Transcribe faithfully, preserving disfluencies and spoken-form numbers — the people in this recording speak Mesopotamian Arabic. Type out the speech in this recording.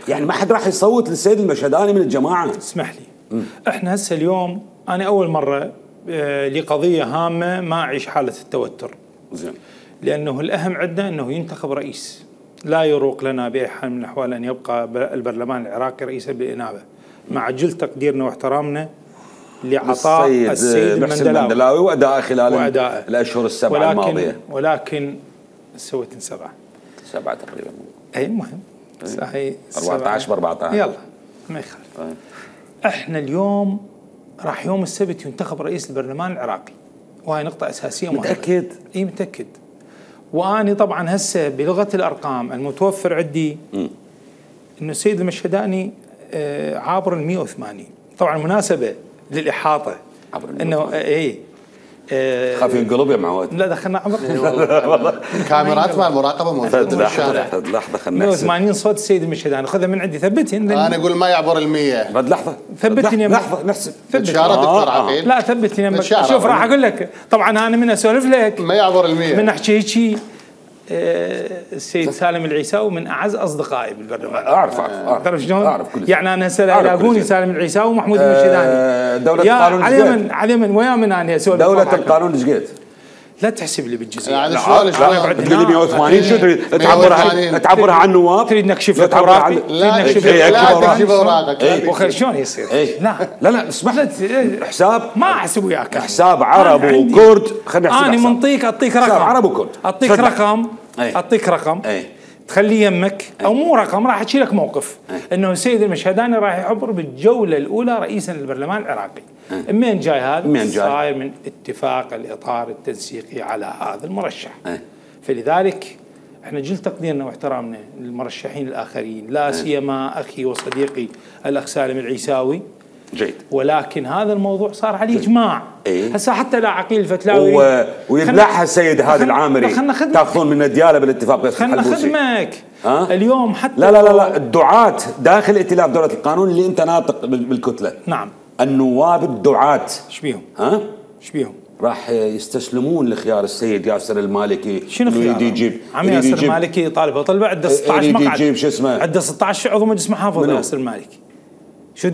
يعني ما حد راح يصوت للسيد المشهداني من الجماعه؟ اسمح لي، م. احنا هسه اليوم انا اول مره آه لقضيه هامه ما اعيش حاله التوتر. زين. لانه الاهم عندنا انه ينتخب رئيس، لا يروق لنا باي حال من الاحوال ان يبقى البرلمان العراقي رئيسا بالانابه، مع جل تقديرنا واحترامنا لعطاء السيد, السيد المندلاوي وادائه خلال وأداء الاشهر السبعه ولكن الماضيه. ولكن سويت سبعه سبعه تقريبا. اي المهم هي أربعة عشر ب أربعة عشر يلا ما يخالف. احنا اليوم راح يوم السبت ينتخب رئيس البرلمان العراقي، وهي نقطه اساسيه مهمه. متاكد؟ اي متاكد. واني طبعا هسه بلغه الارقام المتوفر عندي انه السيد المشهداني عابر ال مئة وثمانين. طبعا مناسبه للاحاطه انه اي خاف ينقلب يا معود. لا دخلنا عمر والله كاميرات مع المراقبه موجوده بالشارع. لحظه خلينا مئة وثمانين صوت السيد المشهداني، خذها من عندي ثبتين. انا اقول ما يعبر ال مئة. بعد لحظه ثبتني لحظه نحسب. اشاره دكتور عقيل. لا ثبتني. شوف راح اقول لك، طبعا انا من اسولف لك ما يعبر ال مئة من احكي هيك. السيد سالم العيساوي من اعز اصدقائي بالبرلمان. اعرف اعرف تعرف شلون؟ اعرف كل شيء. يعني انا هسه يلاقوني سالم العيساوي ومحمود المشهداني. دولة القانون على من على من ويا من انا اسولف. دولة القانون ايش قد؟ لا تحسب لي بالجزئيه. يعني شلون شلون تقول لي مئة وثمانين شو تريد تعبرها تعبرها عن النواب؟ تريد نكشف لك اوراقي؟ لا تكشف اوراقك. وخير شلون يصير؟ لا لا لا اسمح لي. حساب ما احسب وياك. حساب عرب وكرد. خلينا نحسب. انا منطيك اعطيك رقم. عرب وكرد. اعطيك رقم اعطيك رقم تخليه يمك او مو رقم، راح احكي لك موقف انه السيد المشهداني راح يحضر بالجوله الاولى رئيسا للبرلمان العراقي. منين جاي هذا؟ منين جاي؟ صاير من اتفاق الاطار التنسيقي على هذا المرشح. فلذلك احنا جل تقديرنا واحترامنا للمرشحين الاخرين، لا سيما اخي وصديقي الاخ سالم العيساوي. جيد. ولكن هذا الموضوع صار عليه اجماع. ايه؟ هسه حتى لا عقيل الفتلاوي و... ويبلعها السيد هادي العامري تاخذون من الدياله بالاتفاق بس خلنا خدمك. أه؟ اليوم حتى لا لا لا لا الدعاة داخل ائتلاف دولة القانون اللي انت ناطق بالكتله. نعم. النواب الدعاة ايش بيهم؟ ها؟ ايش بيهم؟ راح يستسلمون لخيار السيد ياسر المالكي. شنو خيار؟ يجيب عم ياسر المالكي طالب طلبه عنده ستة عشر مقعد. يجيب شو اسمه؟ عنده ستة عشر عضو مجلس محافظه ياسر المالكي. شو